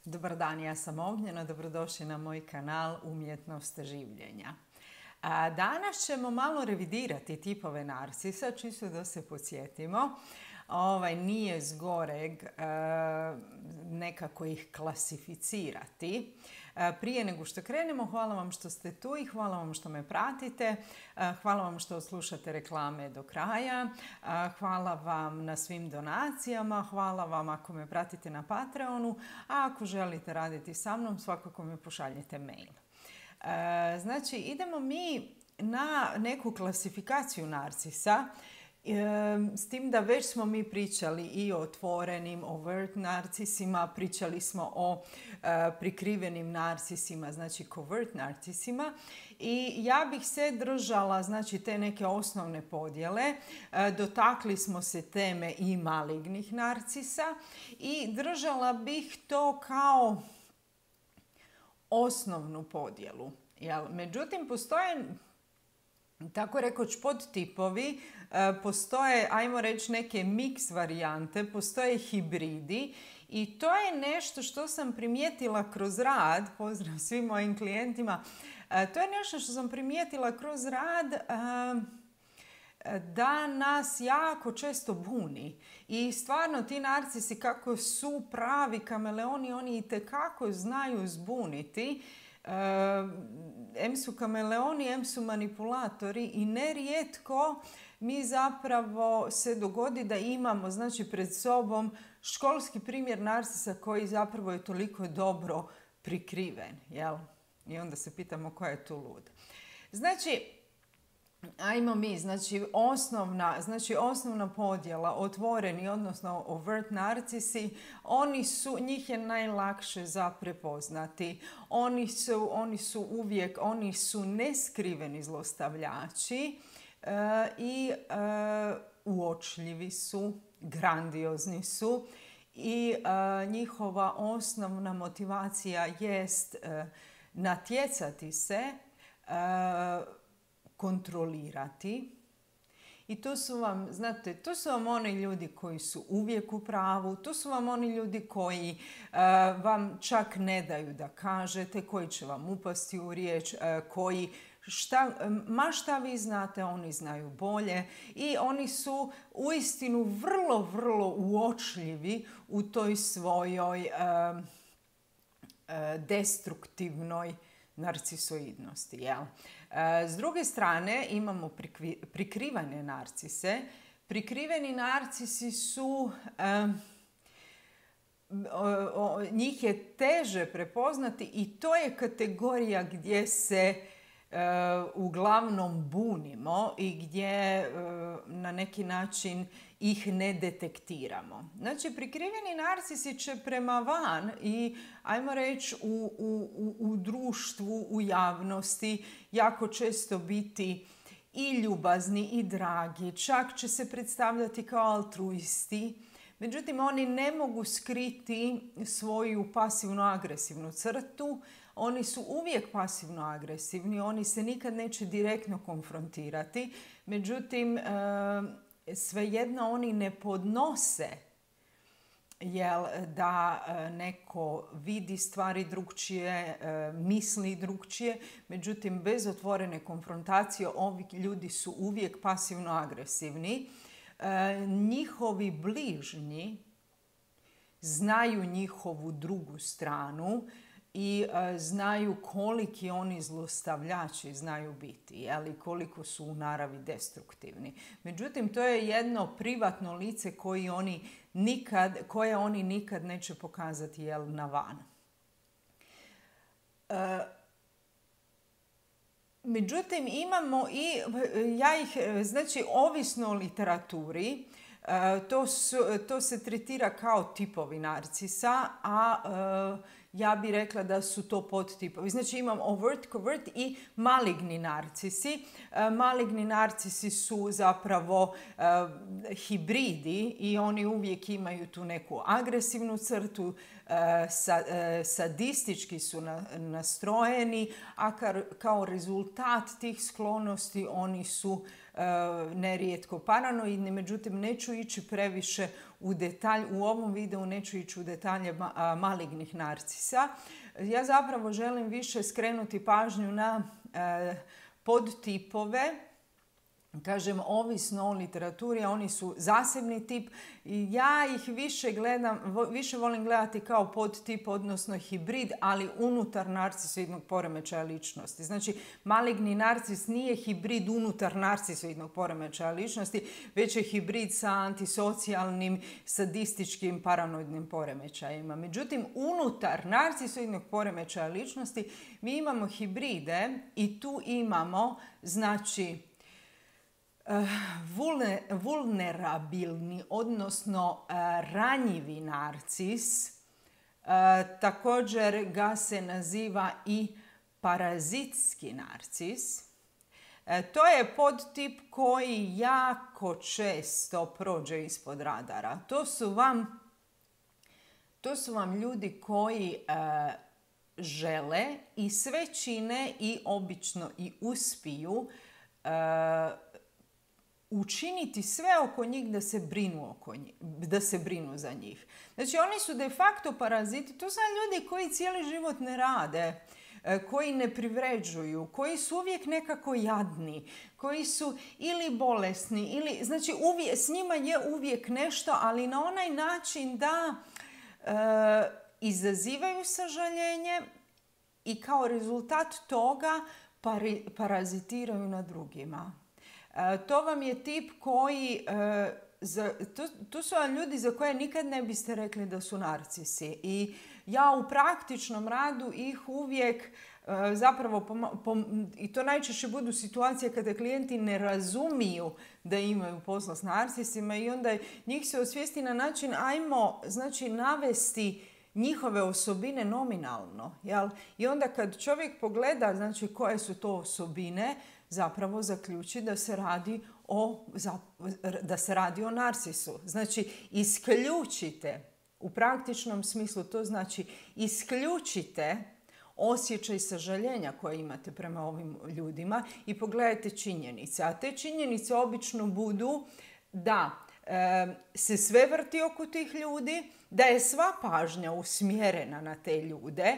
Dobar dan, ja sam Ognjena, dobrodošli na moj kanal Umjetnost življenja. Danas ćemo malo revidirati tipove narcisa, čisto da se podsjetimo. Nije zgoreg nekako ih klasificirati. Prije nego što krenemo, hvala vam što ste tu i hvala vam što me pratite. Hvala vam što slušate reklame do kraja. Hvala vam na svim donacijama. Hvala vam ako me pratite na Patreonu. A ako želite raditi sa mnom, svakako mi pošaljite mail. Znači, idemo mi na neku klasifikaciju narcisa. S tim da već smo mi pričali i o otvorenim, overt narcisima, pričali smo o prikrivenim narcisima, znači covert narcisima. I ja bih se držala, znači, te neke osnovne podjele. Dotakli smo se teme i malignih narcisa i držala bih to kao osnovnu podjelu. Međutim, postoje, tako rekoć, podtipovi, postoje, ajmo reći, neke mix varijante, postoje hibridi i to je nešto što sam primijetila kroz rad, pozdrav svim mojim klijentima, to je nešto što sam primijetila kroz rad da nas jako često buni. I stvarno ti narcisi kako su pravi kameleoni, oni itekako znaju zbuniti. Em su kameleoni, em su manipulatori i nerijetko mi zapravo se dogodi da imamo, znači, pred sobom školski primjer narcisa koji zapravo je toliko dobro prikriven, jel? I onda se pitamo koja je tu lud. Znači, ajmo mi, osnovna podjela, otvoreni, odnosno overt narcisi, njih je najlakše za prepoznati. Oni su neskriveni zlostavljači i uočljivi su, grandiozni su i njihova osnovna motivacija jest natjecati se, kontrolirati. I to su vam, znate, to su vam oni ljudi koji su uvijek u pravu, to su vam oni ljudi koji vam čak ne daju da kažete, koji će vam upasti u riječ, koji šta vi znate, oni znaju bolje i oni su uistinu vrlo, vrlo uočljivi u toj svojoj destruktivnoj narcisoidnosti, jel? S druge strane imamo prikrivene narcise. Prikriveni narcisi su, njih je teže prepoznati i to je kategorija gdje se uglavnom bunimo i gdje na neki način ih ne detektiramo. Znači, prikriveni narcisi će prema van i, ajmo reći, u društvu, u javnosti jako često biti i ljubazni i dragi. Čak će se predstavljati kao altruisti. Međutim, oni ne mogu skriti svoju pasivno-agresivnu crtu. Oni su uvijek pasivno-agresivni, oni se nikad neće direktno konfrontirati. Međutim, svejedno oni ne podnose da neko vidi stvari drukčije, misli drukčije. Međutim, bez otvorene konfrontacije ovi ljudi su uvijek pasivno-agresivni. Njihovi bližnji znaju njihovu drugu stranu i znaju koliki oni zlostavljači znaju biti, koliko su u naravi destruktivni. Međutim, to je jedno privatno lice koje oni nikad neće pokazati na van. Međutim, imamo i, znači, ovisno o literaturi, to se tretira kao tipovi narcisa, a ja bih rekla da su to podtipovi. Znači, imam overt, covert i maligni narcisi. Maligni narcisi su zapravo hibridi i oni uvijek imaju tu neku agresivnu crtu, sadistički su nastrojeni, a kao rezultat tih sklonosti oni su nerijetko paranoidni. Međutim, neću ići previše u detalj, u ovom videu neću ići u detalje malignih narcisa. Ja zapravo želim više skrenuti pažnju na podtipove. Kažem, ovisno o literaturi, a oni su zasebni tip i ja ih više volim gledati kao podtip, odnosno hibrid, ali unutar narcisoidnog poremećaja ličnosti. Znači, maligni narcis nije hibrid unutar narcisoidnog poremećaja ličnosti, već je hibrid sa antisocijalnim, sadističkim, paranoidnim poremećajima. Međutim, unutar narcisoidnog poremećaja ličnosti mi imamo hibride i tu imamo, znači, vulnerabilni, odnosno ranjivi narcis. Također ga se naziva i parazitski narcis. To je podtip koji jako često prođe ispod radara. To su vam ljudi koji žele i sve čine i obično i uspiju učiniti sve oko njih da se brinu za njih. Znači, oni su de facto paraziti. To su ljudi koji cijeli život ne rade, koji ne privređuju, koji su uvijek nekako jadni, koji su ili bolesni, ili, znači s njima je uvijek nešto, ali na onaj način da izazivaju sažaljenje i kao rezultat toga parazitiraju na drugima. To vam je tip koji, to su vam ljudi za koje nikad ne biste rekli da su narcisi. I ja u praktičnom radu ih uvijek zapravo, i to najčešće budu situacije kada klijenti ne razumiju da imaju posla s narcisima i onda njih se osvijesti na način ajmo, znači, navesti njihove osobine nominalno. Jel? I onda kad čovjek pogleda, znači, koje su to osobine, zapravo zaključi da se radi o narcisu. Znači, isključite, u praktičnom smislu to znači isključite osjećaj sažaljenja koje imate prema ovim ljudima i pogledajte činjenice. A te činjenice obično budu da se sve vrti oko tih ljudi, da je sva pažnja usmjerena na te ljude,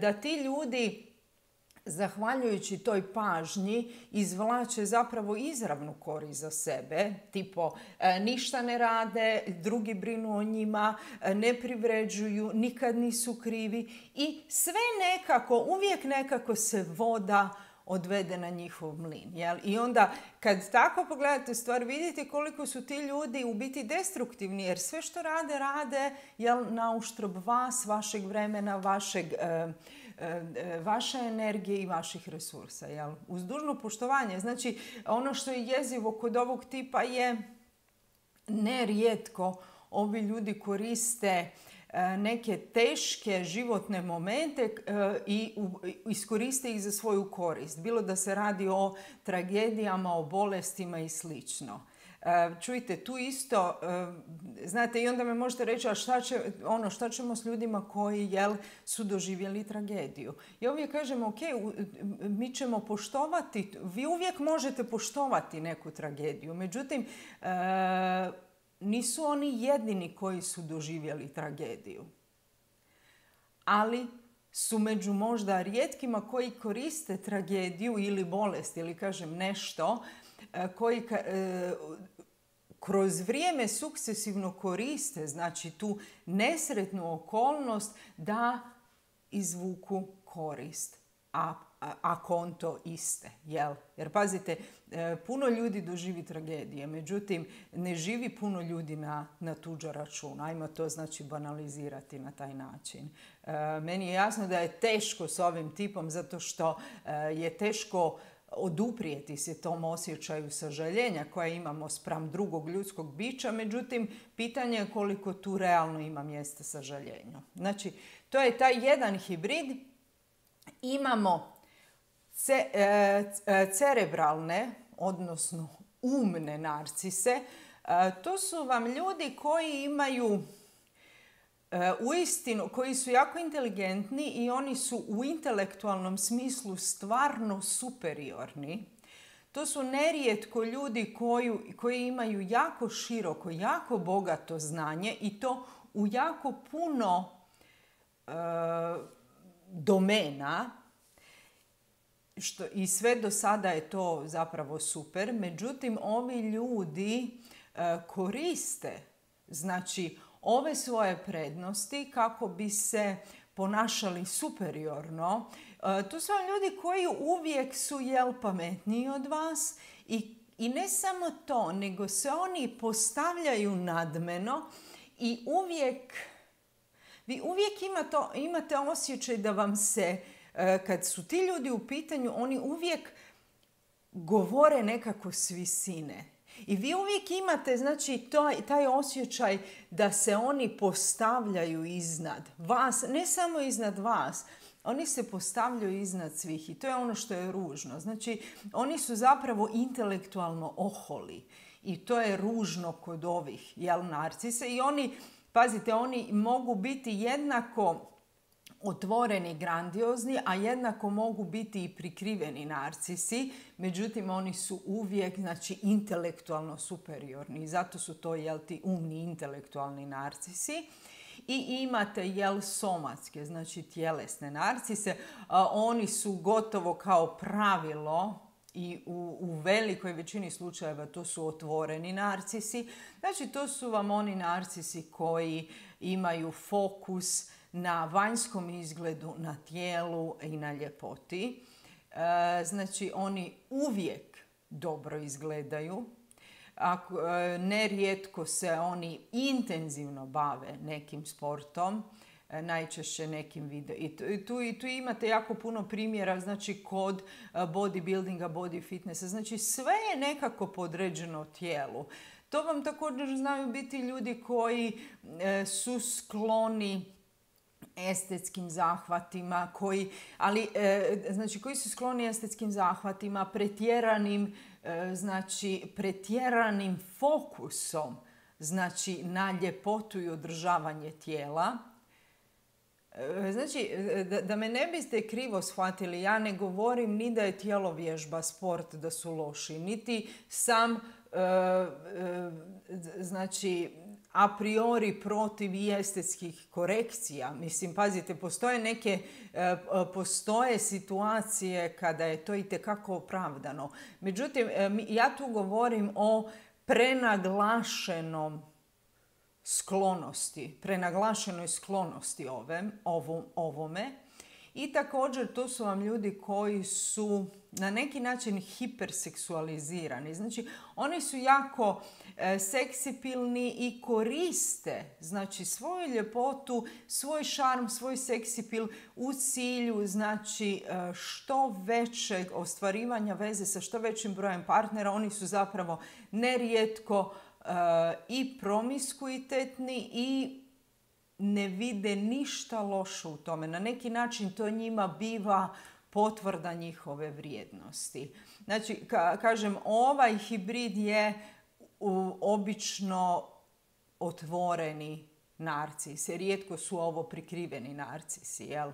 da ti ljudi zahvaljujući toj pažnji izvlače zapravo izravnu korist za sebe, tipo ništa ne rade, drugi brinu o njima, ne privređuju, nikad nisu krivi i sve nekako, uvijek nekako se voda odvede na njihov mlin. Jel? I onda kad tako pogledate stvar, vidite koliko su ti ljudi u biti destruktivni, jer sve što rade na uštrb vas, vašeg vremena, vaše energije i vaših resursa. Jel? Uz dužno poštovanje. Znači, ono što je jezivo kod ovog tipa je nerijetko ovi ljudi koriste neke teške životne momente i iskoriste ih za svoju korist. Bilo da se radi o tragedijama, o bolestima i slično. Čujte, tu isto, znate, i onda me možete reći, a šta ćemo s ljudima koji su doživjeli tragediju? Ja uvijek kažem, ok, mi ćemo poštovati, vi uvijek možete poštovati neku tragediju, međutim, nisu oni jedini koji su doživjeli tragediju. Ali su među možda rijetkima koji koriste tragediju ili bolest ili kažem nešto koji kroz vrijeme sukcesivno koriste, znači tu nesretnu okolnost da izvuku korist, a konto iste. Jel? Jer pazite, puno ljudi doživi tragedije, međutim ne živi puno ljudi na tuđa računa. Ajmo to znači banalizirati na taj način. Meni je jasno da je teško s ovim tipom zato što je teško oduprijeti se tom osjećaju sažaljenja koje imamo spram drugog ljudskog bića, međutim, pitanje je koliko tu realno ima mjesta sažaljenju. Znači, to je taj jedan hibrid. Imamo cerebralne, odnosno umne narcise. To su vam ljudi koji imaju uistinu, koji su jako inteligentni i oni su u intelektualnom smislu stvarno superiorni. To su nerijetko ljudi koji imaju jako široko, jako bogato znanje i to u jako puno domena. I sve do sada je to zapravo super. Međutim, ovi ljudi koriste znači ove svoje prednosti kako bi se ponašali superiorno. To su ljudi koji uvijek su pametniji od vas i ne samo to, nego se oni postavljaju nadmeno i vi uvijek imate osjećaj da vam se, kad su ti ljudi u pitanju, oni uvijek govore nekako s visine. I vi uvijek imate znači, taj osjećaj da se oni postavljaju iznad vas, ne samo iznad vas, oni se postavljaju iznad svih i to je ono što je ružno. Znači, oni su zapravo intelektualno oholi i to je ružno kod ovih narcisa i oni, pazite, oni mogu biti jednako otvoreni, grandiozni, a jednako mogu biti i prikriveni narcisi, međutim oni su uvijek znači, intelektualno superiorni i zato su to ti umni intelektualni narcisi. I imate somatske, znači tjelesne narcise. Oni su gotovo kao pravilo i u velikoj većini slučajeva to su otvoreni narcisi. Znači to su vam oni narcisi koji imaju fokus na vanjskom izgledu, na tijelu i na ljepoti. Znači oni uvijek dobro izgledaju. Nerijetko se oni intenzivno bave nekim sportom, najčešće nekim video. I tu imate jako puno primjera znači kod bodybuildinga, body fitnessa. Znači sve je nekako podređeno tijelu. To vam također znaju biti ljudi koji su skloni estetskim zahvatima, koji su skloni estetskim zahvatima, pretjeranim fokusom znači, na ljepotu i održavanje tijela. Znači, da me ne biste krivo shvatili, ja ne govorim ni da je tjelovježba sport da su loši, niti sam znači a priori protiv i estetskih korekcija. Mislim, pazite, postoje situacije kada je to itekako opravdano. Međutim, ja tu govorim o prenaglašenoj sklonosti ovome. I također to su vam ljudi koji su na neki način hiperseksualizirani. Znači, oni su jako seksipilni i koriste znači, svoju ljepotu, svoj šarm, svoj seksipil u cilju znači, što većeg ostvarivanja veze sa što većim brojem partnera. Oni su zapravo nerijetko i promiskuitetni i ne vide ništa loše u tome. Na neki način to njima biva potvrda njihove vrijednosti. Znači, kažem, ovaj hibrid je obično otvoreni narcisi. Rijetko su ovo prikriveni narcisi, jel?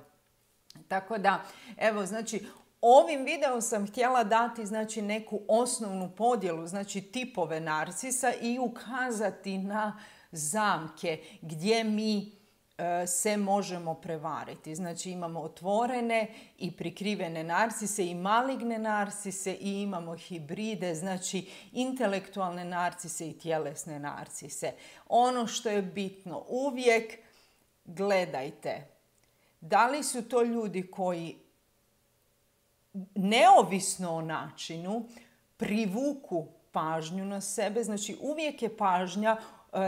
Tako da, evo, znači, ovim videom sam htjela dati znači, neku osnovnu podjelu, znači tipove narcisa i ukazati na zamke gdje mi se možemo prevariti. Znači imamo otvorene i prikrivene narcise i maligne narcise i imamo hibride, znači intelektualne narcise i tjelesne narcise. Ono što je bitno, uvijek gledajte da li su to ljudi koji neovisno o načinu privuku pažnju na sebe. Znači uvijek je pažnja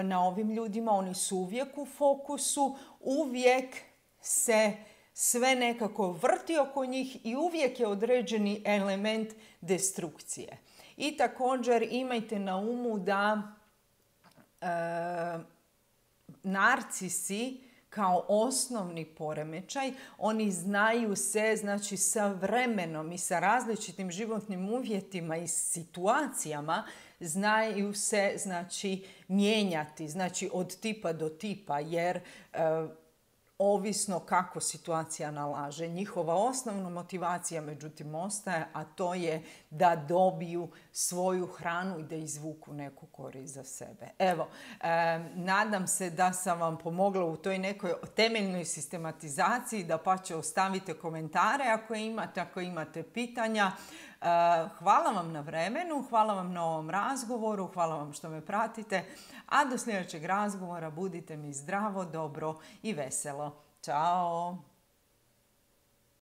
na ovim ljudima, oni su uvijek u fokusu, uvijek se sve nekako vrti oko njih i uvijek je određeni element destrukcije. I također imajte na umu da narcisi kao osnovni poremećaj, oni znaju se znači, sa vremenom i sa različitim životnim uvjetima i situacijama znaju se znači, mijenjati, znači od tipa do tipa, jer ovisno kako situacija nalaže. Njihova osnovna motivacija međutim ostaje, a to je da dobiju svoju hranu i da izvuku neku korist za sebe. Evo, nadam se da sam vam pomogla u toj nekoj temeljnoj sistematizaciji, da pa će ostavite komentare ako imate pitanja. Hvala vam na vremenu, hvala vam na ovom razgovoru, hvala vam što me pratite, a do sljedećeg razgovora budite mi zdravo, dobro i veselo. Ćao!